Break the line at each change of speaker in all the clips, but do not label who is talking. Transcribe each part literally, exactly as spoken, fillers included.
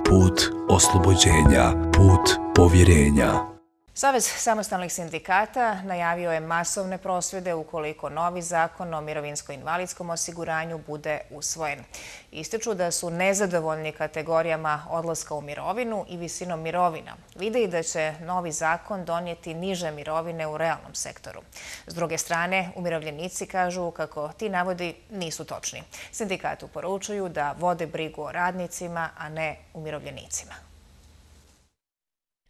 put oslobođenja, put povjerenja.
Savez samostalnih sindikata najavio je masovne prosvjede ukoliko novi zakon o mirovinsko-invalidskom osiguranju bude usvojen. Ističu da su nezadovoljni kategorijama odlaska u mirovinu i visinom mirovina. Vide i da će novi zakon donijeti niže mirovine u realnom sektoru. S druge strane, umirovljenici kažu kako ti navodi nisu točni. Sindikatu poručuju da vode brigu o radnicima, a ne umirovljenicima.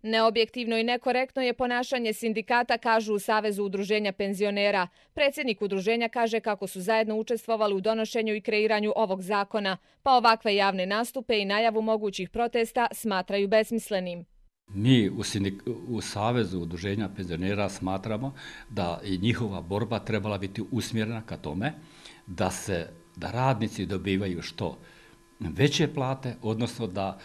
Neobjektivno i nekorektno je ponašanje sindikata, kažu u Savezu udruženja penzionera. Predsjednik udruženja kaže kako su zajedno učestvovali u donošenju i kreiranju ovog zakona, pa ovakve javne nastupe i najavu mogućih protesta smatraju besmislenim.
Mi u, sindik, u Savezu udruženja penzionera smatramo da i njihova borba trebala biti usmjerena ka tome da se da radnici dobivaju što veće plate, odnosno da,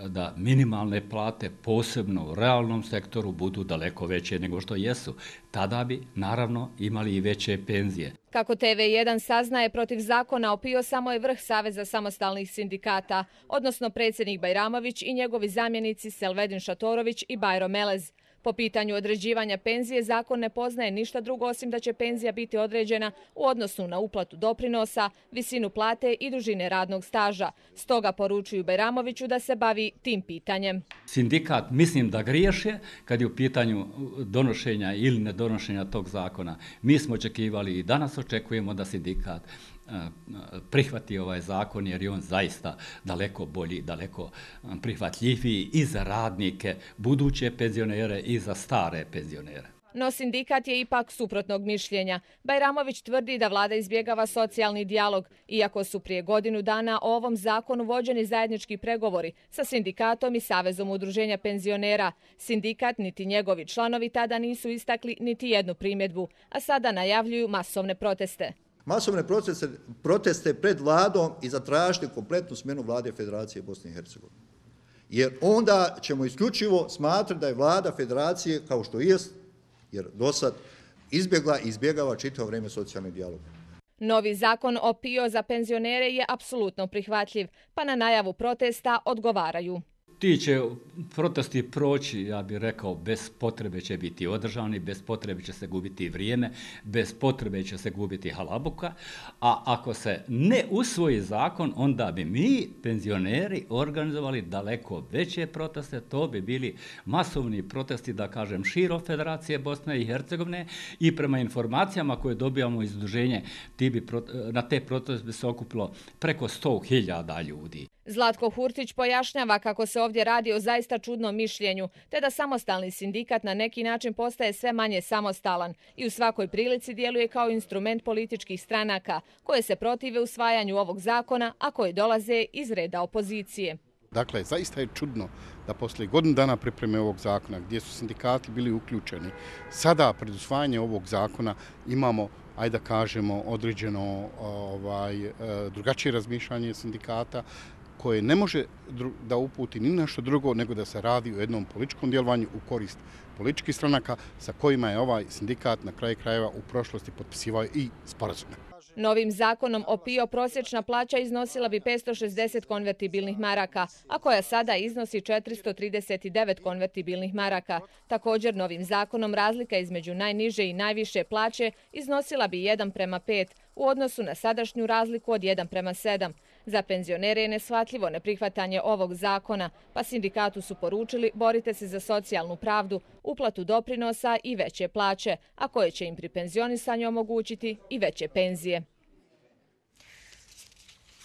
da minimalne plate, posebno u realnom sektoru, budu daleko veće nego što jesu. Tada bi, naravno, imali i veće penzije.
Kako T V jedan saznaje, protiv zakona o P I O samo je vrh Saveza samostalnih sindikata, odnosno predsjednik Bajramović i njegovi zamjenici Selvedin Šatorović i Bajro Melez. Po pitanju određivanja penzije, zakon ne poznaje ništa drugo osim da će penzija biti određena u odnosu na uplatu doprinosa, visinu plate i dužine radnog staža. Stoga poručuju Bajramoviću da se bavi tim pitanjem.
Sindikat mislim da griješe kad je u pitanju donošenja ili nedonošenja tog zakona. Mi smo očekivali i danas očekujemo da sindikat prihvati ovaj zakon jer je on zaista daleko bolji, daleko prihvatljiviji i za radnike, buduće penzionere i za stare penzionere.
No sindikat je ipak suprotnog mišljenja. Bajramović tvrdi da vlada izbjegava socijalni dijalog, iako su prije godinu dana o ovom zakonu vođeni zajednički pregovori sa sindikatom i Savezom udruženja penzionera. Sindikat niti njegovi članovi tada nisu istakli niti jednu primjedbu, a sada najavljuju masovne proteste.
Masovne proteste, proteste pred vladom i zatražiti kompletnu smjenu vlade Federacije Bosne i Hercegovine. Jer onda ćemo isključivo smatrati da je vlada Federacije, kao što jest, jer do sad izbjegla i izbjegava čitavo vrijeme socijalni dijalog.
Novi zakon o P I O za penzionere je apsolutno prihvatljiv, pa na najavu protesta odgovaraju.
Ti će protesti proći, ja bih rekao, bez potrebe će biti održani, bez potrebe će se gubiti vrijeme, bez potrebe će se gubiti halabuka, a ako se ne usvoji zakon, onda bi mi, penzioneri, organizovali daleko veće proteste, to bi bili masovni protesti, da kažem, širom Federacije Bosne i Hercegovine i prema informacijama koje dobijamo iz udruženja, na te proteste bi se okupilo preko sto hiljada ljudi.
Zlatko Hurtić pojašnjava kako se ovdje radi o zaista čudnom mišljenju, te da samostalni sindikat na neki način postaje sve manje samostalan i u svakoj prilici djeluje kao instrument političkih stranaka koje se protive usvajanju ovog zakona, a koje dolaze iz reda opozicije.
Dakle, zaista je čudno da poslije godinu dana pripreme ovog zakona, gdje su sindikati bili uključeni, sada pred usvajanje ovog zakona imamo, ajde da kažemo, određeno ovaj, drugačije razmišljanje sindikata, koje ne može da uputi ni nešto drugo nego da se radi o jednom političkom djelovanju u korist političkih stranaka sa kojima je ovaj sindikat na kraju krajeva u prošlosti potpisivao i sporazume.
Novim zakonom o P I O prosječna plaća iznosila bi petsto šezdeset konvertibilnih maraka, a koja sada iznosi četiristo trideset devet konvertibilnih maraka. Također, novim zakonom razlika između najniže i najviše plaće iznosila bi jedan prema pet u odnosu na sadašnju razliku od jedan prema sedam. Za penzionere je neshvatljivo neprihvatanje ovog zakona, pa sindikatu su poručili borite se za socijalnu pravdu, uplatu doprinosa i veće plaće, a koje će im pri penzionisanju omogućiti i veće penzije.